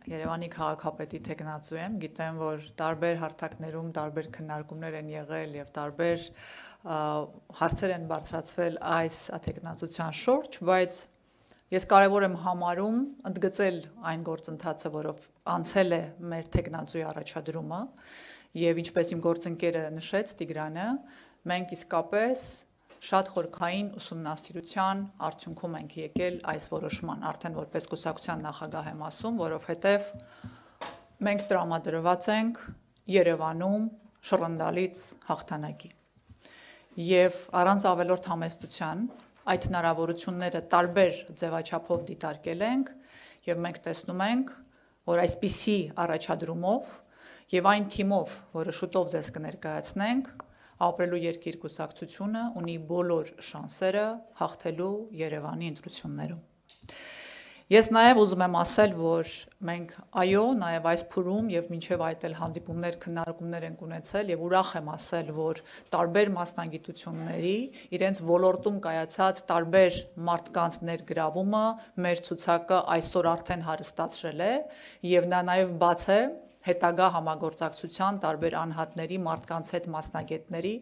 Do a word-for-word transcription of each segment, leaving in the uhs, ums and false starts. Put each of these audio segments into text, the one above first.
Երևանի քաղաքապետի թեկնածու եմ, գիտեմ, որ տարբեր հարթակներում տարբեր քննարկումներ են եղել եւ տարբեր հարցեր են բարձրացվել այս թեկնածության շուրջ, բայց ես կարևոր եմ համարում ընդգծել այն գործընթացը, որով անցել է մեր թեկնածուի առաջադրումը եւ ինչպես իմ գործընկերը նշեց Տիգրանը, մենք իսկապես շատ խորքային ուսումնասիրության արդյունքում ենք եկել այս որոշման, արդեն որպես կուսակցության նախագահ եմ ասում, որովհետև մենք տրամադրված ենք Երևանում շռնդալից հաղթանակի։ Եվ առանց ավելորդ համեստության այդ հնարավորությունները տարբեր ձևաչափով դիտարկել ենք եւ մենք տեսնում ենք, որ այսպիսի առաջադրումով եւ այն թիմով, որը շուտով ձեզ կներկայացնենք, Ապրելու երկիր կուսակցությունը ունի բոլոր շանսերը հաղթելու Երևանի ընտրություններում։ Ես նաև ուզում եմ ասել, որ մենք այո, նաև այս փուլում եւ մինչեւ այդ էլ հանդիպումներ, քննարկումներ ենք ունեցել եւ ուրախ եմ ասել, որ տարբեր մասնագիտությունների իրենց ոլորտում կայացած տարբեր մարդկանց ներգրավումը մեր ցուցակը այսօր արդեն հարստացրել է եւ նա նաև բաց է հետագա համագործակցության տարբեր անհատների, մարդկանց հետ մասնագետների,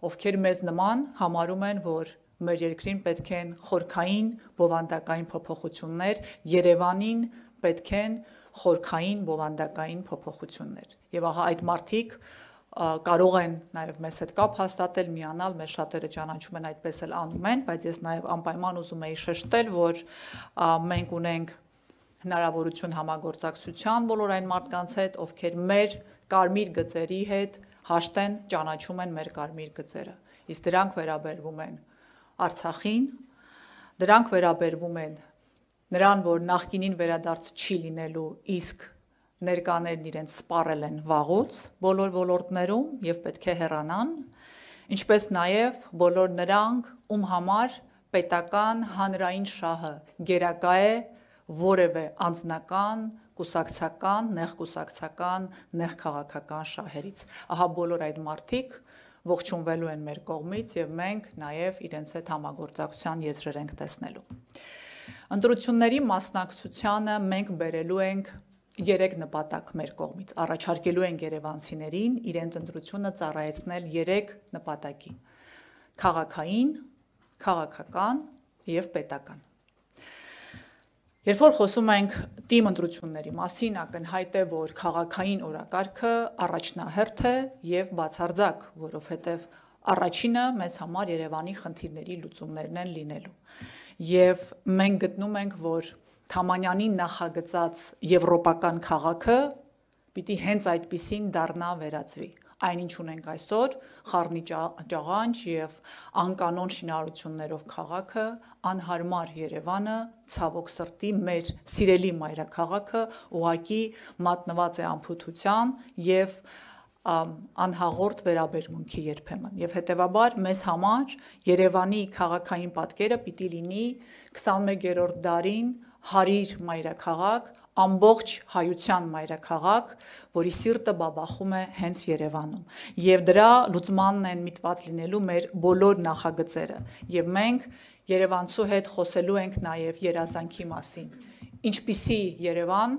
ովքեր մեզ նման համարում են, որ մեր երկրին պետք են խորքային բովանդակային փոփոխություններ, Երևանին պետք են խորքային բովանդակային փոփոխություններ։ Եվ ահա այդ մարդիկ կարող են նաև մեզ հետ կապ հաստատել, միանալ, մեզ շատերը ճանաչում են, այդպես էլ անում են, բայց ես նաև անպայման ուզում եի շեշտել, որ մենք ունենք հնարավորություն համագործակցության բոլոր այն մարդկանց հետ, ովքեր մեր կարմիր գծերի հետ հաշտեն, ճանաչում են մեր կարմիր գծերը։ Իսկ դրանք վերաբերվում են Արցախին, դրանք վերաբերվում են նրան, որ նախկինին վերադարձ չի լինելու, իսկ ներկաներն իրենց սպառել են վաղուց բոլոր ոլորտներում եւ պետք է հեռանան, ինչպես նաեւ բոլոր նրանք, ում համար պետական հանրային շահը գերակա է որևէ անձնական, կուսակցական, նեղ կուսակցական, նեղ քաղաքական շահերից։ Ահա բոլոր այդ մարդիկ ողջունվելու են մեր կողմից եւ մենք նաեւ իրենց հետ համագործակցության եզրեր ենք տեսնելու։ Ընտրությունների մասնակցությանը մենք բերելու ենք երեք նպատակ մեր կողմից։ Առաջարկելու ենք երևանցիներին իրենց ընտրությունը ծառայեցնել երեք նպատակի՝ քաղաքային, քաղաքական եւ պետական։ Երբ որ խոսում ենք թիմ ընտրությունների մասին, ակնհայտ է, որ քաղաքային օրակարգը առաջնահերթ է եւ բացարձակ, որովհետեւ առաջինը մեզ համար Երևանի խնդիրների լուծումներն են լինելու։ Եվ մենք գտնում ենք, որ Թամանյանի նախագծած եվրոպական քաղաքը պիտի հենց այդպիսին դառնա վերածվի։ Այնինչ ունենք այսօր խառնի ճաղանճ եւ անկանոն շինարարություններով քաղաքը, անհարմար Երևանը, ցավոք սրտի մեր սիրելի մայրաքաղաքը ուղղակի մատնված է անփութության եւ անհաղորդ վերաբերմունքի երբեմն։ Եվ հետեւաբար մեզ համար Երևանի քաղաքային պատկերը պիտի լինի քսանմեկերորդ դարին հարիր մայրաքաղաք, ամբողջ հայության մայրաքաղաք, որի սիրտը բաբախում է հենց Երևանում։ Եվ դրա լուծմանն են միտված լինելու մեր բոլոր նախագծերը։ Եվ մենք Երևանցու հետ խոսելու ենք նաև երազանքի մասին։ Ինչպիսի Երևան,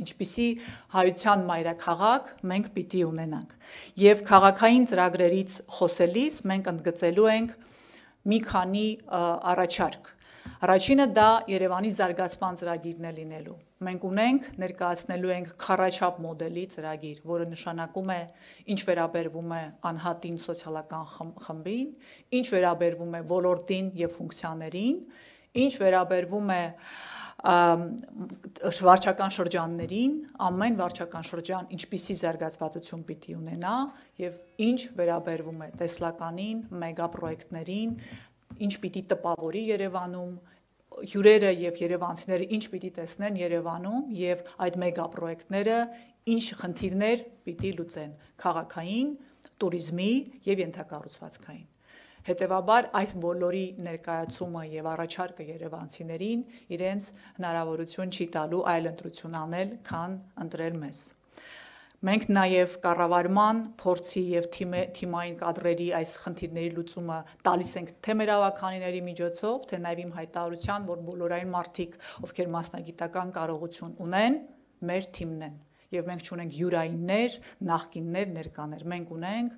ինչպիսի հայության մայրաքաղաք մենք պիտի ունենանք։ Եվ քաղաքային ծրագրերից խոսելիս մենք ընդգծելու ենք մի քանի առաջարկ։ Առաջինը դա Երևանի զարգացման ծրագիրն է լինելու։ Մենք ունենք, ներկայացնելու ենք քառաչափ մոդելի ծրագիր, որը նշանակում է ինչ վերաբերվում է անհատին սոցիալական խմբին, ինչ վերաբերվում է ոլորտին եւ ֆունկցիաներին, ինչ վերաբերվում է վարչական շրջաններին, ամեն վարչական շրջան ինչպիսի զարգացվածություն պիտի ունենա եւ ինչ վերաբերվում է տեսլականին, մեգապրոյեկտներին, ինչ պիտի տպավորի Երևանում, հյուրերը եւ երևանցիները ինչ պիտի տեսնեն Երևանում եւ այդ մեգապրոյեկտները ինչ խնդիրներ պիտի լուծեն քաղաքային, туриզմի եւ ենթակառուցվածքային։ Հետևաբար այս բոլորի ներկայացումը եւ առաջարկը երևանցիներին իրենց հնարավորություն չի տալու այլ ընտրություն անել, քան ընտրել մեզ։ Մենք նաև կառավարման փորձի եւ թիմային կադրերի այս խնդիրների լուծումը տալիս ենք թե մեր ավականիների միջոցով, թե նաև իմ հայտարարության, որ բոլոր այն մարդիկ, ովքեր մասնագիտական կարողություն ունեն, մեր թիմն են, եւ մենք չունենք յուրայիններ, նախկիններ, ներկաներ, մենք ունենք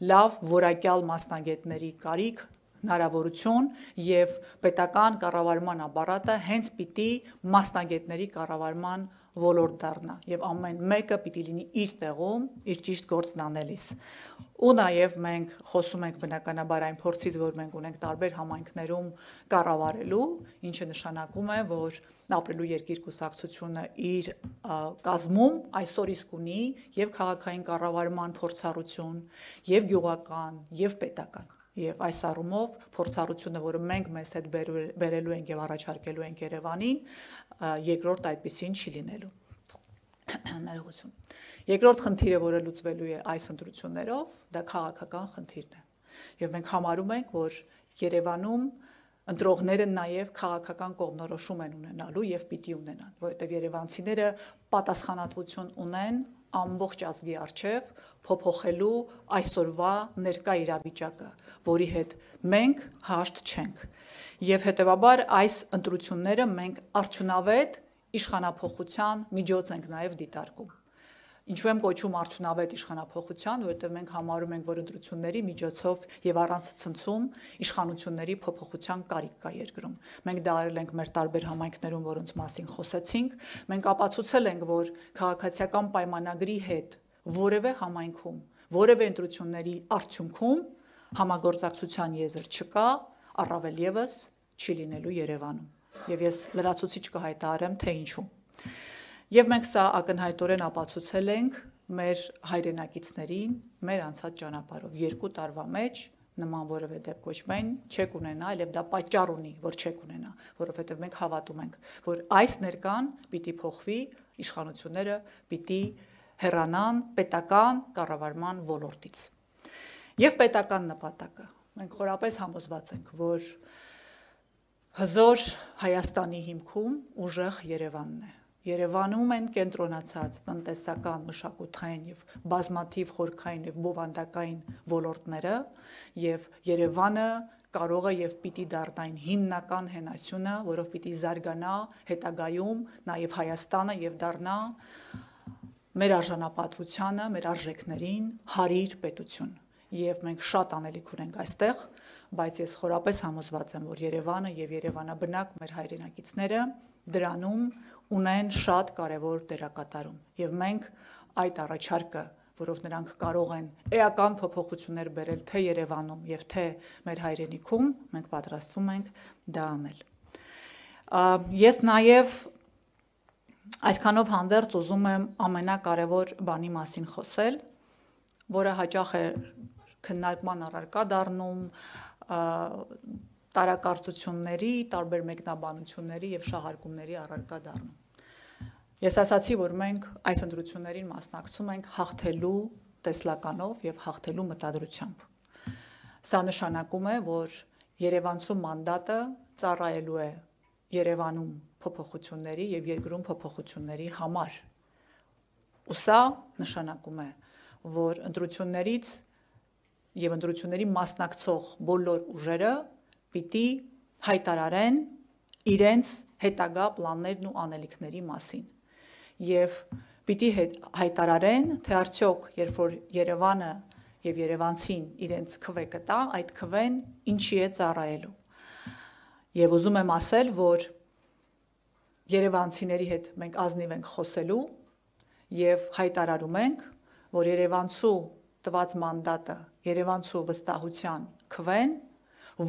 լավ որակյալ մասնագետների կարիք, հնարավորություն եւ պետական կառավարման ապարատը հենց պիտի մասնագետների կառավարման ոլորտ դառնա եւ ամեն մեկը պիտի լինի իր տեղում, իր ճիշտ գործն անելիս։ Ու նաեւ մենք խոսում ենք բնականաբար այն փորձից, որ մենք ունենք տարբեր համայնքներում կառավարելու, ինչը նշանակում է, որ ապրելու երկիր կուսակցությունը իր կազմում այսօր իսկ ունի եւ քաղաքային կառավարման փորձառություն, եւ գյուղական, եւ պետական։ Եվ այս առումով փորձառությունը, որը մենք մեզ հետ բերելու ենք եւ առաջարկելու ենք Երևանին, երկրորդ այդպեսին չի լինելու։ Ներողություն։ Երկրորդ խնդիրը, որը լուծվելու է այս ընտրություններով, դա քաղաքական խնդիրն է։ Եվ մենք համարում ենք, որ Երևանում ընտրողները նաև քաղաքական կողմնորոշում են ունենալու եւ պիտի ունենան, որովհետեւ երևանցիները պատասխանատվություն ունեն ամբողջ ազգի առջև փոփոխելու այսօրվա ներկա իրավիճակը, որի հետ մենք հաշտ չենք։ Եվ հետեւաբար այս ընտրությունները մենք արդյունավետ իշխանափոխության միջոց ենք նաև դիտարկում։ Ինչու եմ կոչում արդյունավետ իշխանափոխության, որովհետև մենք համարում ենք, որ ընտրությունների միջոցով եւ առանց ցնցում իշխանությունների փոփոխության կարիք կա երկրում։ Մենք դա արել ենք մեր տարբեր համայնքներում, որոնց մասին խոսեցինք, մենք ապացուցել ենք, որ քաղաքացիական պայմանագրի հետ որևէ համայնքում, որևէ ընտրությունների արդյունքում համագործակցության եզր չկա, առավել եւս չի լինելու Երևանում։ Եվ ես լրացուցիչ կհայտարարեմ, թե ինչու։ Եվ մենք սա ակնհայտորեն ապացուցել ենք մեր հայրենակիցներին, մեր անցած ճանապարհով երկու տարվա մեջ նման որևէ դեպք կոչմեն չեք ունենալ, եւ դա պատճառ ունի, որ չեք ունենա, որովհետեւ մենք հավատում ենք, որ այս ներկան պիտի փոխվի, իշխանությունները պիտի հեռանան պետական կառավարման ոլորտից։ Եվ պետական նպատակը, մենք խորապես համոզված ենք, որ հզոր Հայաստանի հիմքում ուժեղ Երևանն է։ Երևանում են կենտրոնացած տնտեսական, մշակութային եւ բազմաթիվ խորքային եւ բովանդակային ոլորտները, եւ Երևանը կարող է եւ պիտի դառնա այն հիմնական հենասյունը, որով պիտի զարգանա հետագայում նաեւ Հայաստանը եւ դառնա մեր արժանապատվությանը, մեր արժեքներին հարիր պետություն։ Եվ մենք շատ անելիք ունենք այստեղ, բայց ես խորապես համոզված եմ, որ Երևանը եւ Երևանաբնակ մեր հայրենակիցները դրանում ունեն շատ կարևոր դերակատարում։ Եվ մենք այդ առաջարկը, որով նրանք կարող են էական փոփոխություններ բերել թե Երևանում եւ թե մեր հայրենիքում, մենք պատրաստվում ենք դա անել։ Ես նաեւ այսքանով հանդերձ ուզում եմ ամենակարևոր բանի մասին խոսել, որը հաճախ է քննարկման առարկա դառնում տարակարծությունների, տարբեր մեկնաբանությունների եւ շահարկումների առարկա դառնում։ Ես ասացի, որ մենք այս ընտրություններին մասնակցում ենք հաղթելու տեսլականով եւ հաղթելու մտադրությամբ։ Սա նշանակում է, որ Երևանցու մանդատը ծառայելու է Երևանում փոփոխությունների եւ երկրում փոփոխությունների համար։ Ու սա նշանակում է, որ ընտրություններից եւ ընտրությունների մասնակցող բոլոր ուժերը պիտի հայտարարեն իրենց հետագա պլաններն ու անելիքների մասին եւ պիտի հայտարարեն, թե արդյոք երբ որ Երևանը եւ Երևանցին իրենց քվե կտա, այդ քվեն ինչի է ծառայելու։ Եվ ուզում եմ ասել, որ երևանցիների հետ մենք ազնիվ ենք խոսելու եւ հայտարարում ենք, որ Երևանցու տված մանդատը, Երևանցու վստահության քվեն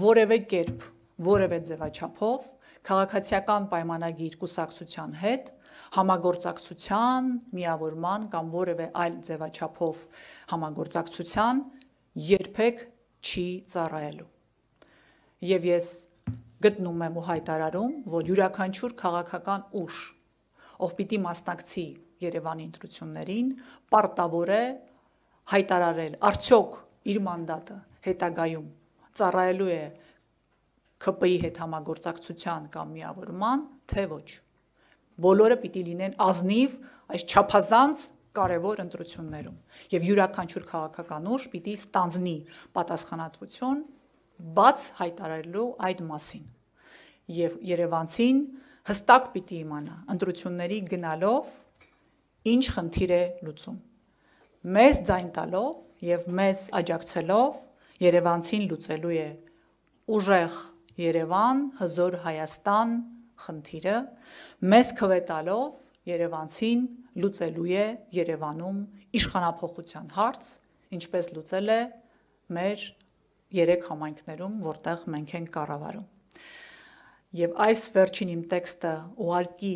որևէ կերպ, որևէ ձևաչափով քաղաքացիական պայմանագիր կուսակցության հետ համագործակցության, միավորման կամ որևէ այլ ձևաչափով համագործակցության երբեք չի ծառայելու։ Եվ ես գտնում եմ ու հայտարարում, որ յուրաքանչյուր քաղաքական ուժ, ով պիտի մասնակցի Երևանի ընտրություններին, պարտավոր է հայտարարել արդյոք իր մանդատը հետագայում ծառայելու է K P I հետ համագործակցության կամ միավորման, թե ոչ։ Բոլորը պիտի լինեն ազնիվ այս չափազանց կարևոր ընտրություններում եւ յուրաքանչյուր քաղաքական ուժ պիտի ստանձնի պատասխանատվություն բաց հայտարարելու այդ մասին։ Եվ Երևանցին հստակ պիտի իմանա ընտրությունների գնալով ինչ խնդիր է լուծում։ Մեզ ձայն տալով եւ մեզ աջակցելով Երևանցին լուծելու է ուժեղ Երևան, հզոր Հայաստան խնդիրը, մեզ քվետալով Երևանցին լուծելու է Երևանում իշխանափոխության հարց, ինչպես լուծել է մեր երեք համայնքներում, որտեղ մենք ենք կառավարում։ Եվ այս վերջին իմ տեքստը ուղղակի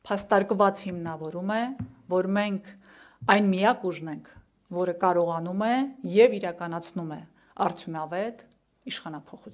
փաստարկված հիմնավորում է, որ մենք այն միակ ուժն ենք, որը կարողանում է եւ իրականացնում է արդյունավետ իշխանափոխություն։